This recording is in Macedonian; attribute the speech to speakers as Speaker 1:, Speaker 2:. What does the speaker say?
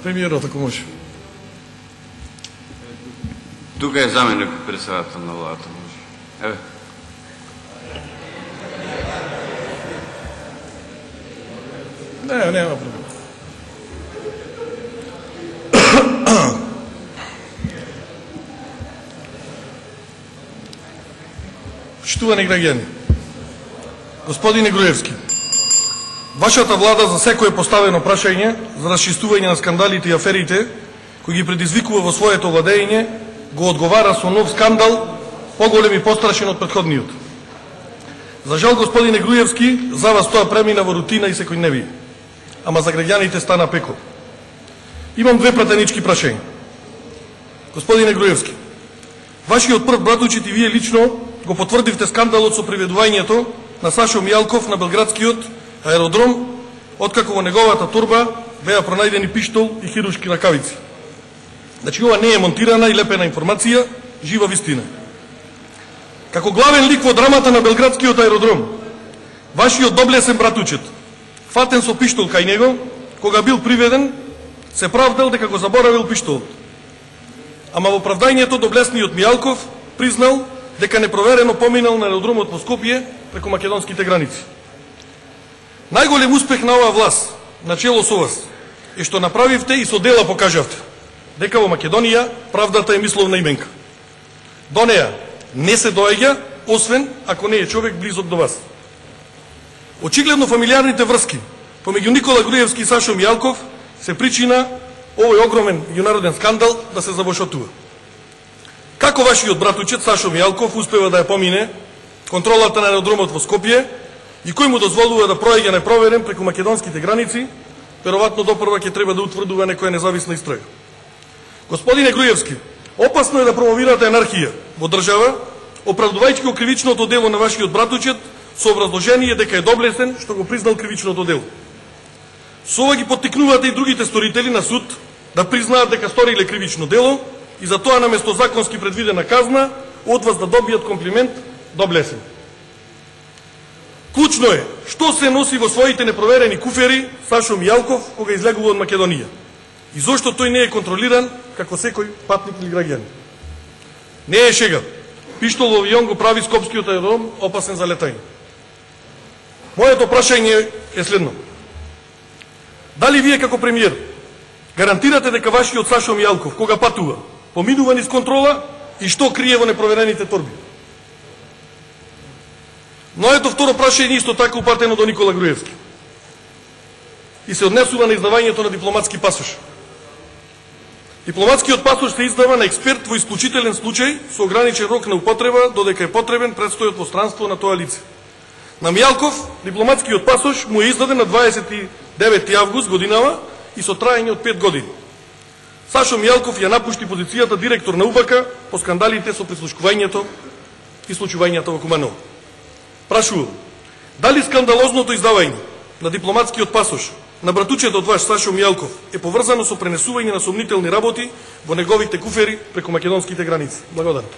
Speaker 1: Премиерот, ако може.
Speaker 2: Тука е заменик председател на владата, може. Еве.
Speaker 1: Нема проблем. Почитувани граѓани, господине Груевски, вашата влада за секое поставено прашање за расчистување на скандалите и аферите кои ги предизвикува во своето владење, го одговара со нов скандал, поголем и пострашен од претходниот. За жал, господине Груевски, за вас тоа премина во рутина и секојдневие, ама за граѓаните стана пеко. Имам две пратенички прашања. Господине Груевски, вашиот прв братучит и вие лично го потврдивте скандалот со приведувањето на Сашо Мијалков на белградскиот аеродром, откако во неговата турба беа пронајдени пиштол и хируршки ракавици. Значи, ова не е монтирана и лепена информација, жива вистина. Како главен лик во драмата на белградскиот аеродром, вашиот доблесен братучет, фатен со пиштол кај него, кога бил приведен, се правдал дека го заборавил пиштолот. Ама во правдањето доблесниот Мијалков признал дека непроверено поминал на аеродромот во Скопје преку македонските граници. Најголем успех на оваа власт, начело со вас, е што направивте и со дела покажавте дека во Македонија правдата е мисловна именка. До неа не се доаѓа, освен ако не е човек близок до вас. Очигледно фамилиарните врски помеѓу Никола Груевски и Сашо Мијалков се причина овој огромен меѓународен скандал да се забошотува. Како вашиот братучет Сашо Мијалков успева да ја помине контролата на аеродромот во Скопје и кој му дозволува да проаѓа непроверен преку македонските граници, веројатно допрва ќе треба да утврдува некоја независна истрага. Господине Груевски, опасно е да промовирате анархија во држава, оправдувајќи го кривичното дело на вашиот братучет со образложение дека е доблесен што го признал кривичното дело. Со ова ги поттикнувате и другите сторители на суд да признаат дека сториле кривично дело и за тоа наместо законски предвидена казна од вас да добијат комплимент доблесен. Клучно е што се носи во своите непроверени куфери Сашо Мијалков кога излегува од Македонија и зошто тој не е контролиран како секој патник или граѓанин. Не е шега. Пиштол во авион го прави скопскиот аеродром опасен за летање. Моето прашање е следно. Дали вие како премиер гарантирате дека вашиот Сашо Мијалков кога патува поминува низ контрола и што крие во непроверените торби? Но ето второ прашање исто така упатено до Никола Груевски и се однесува на издавањето на дипломатски пасош. Дипломатскиот пасош се издава на експерт во исклучителен случај со ограничен рок на употреба додека е потребен престојот во странство на тоа лице. На Мијалков дипломатскиот пасош му е издаден на 29 август годинава и со траење од 5 години. Сашо Мијалков ја напушти позицијата директор на УБК по скандалите со прислушкувањето и случувањата во Куманово. Прашувам, дали скандалозното издавање на дипломатскиот пасош на братучетот ваш Сашо Мијалков е поврзано со пренесување на сомнителни работи во неговите куфери преку македонските граници? Благодарам.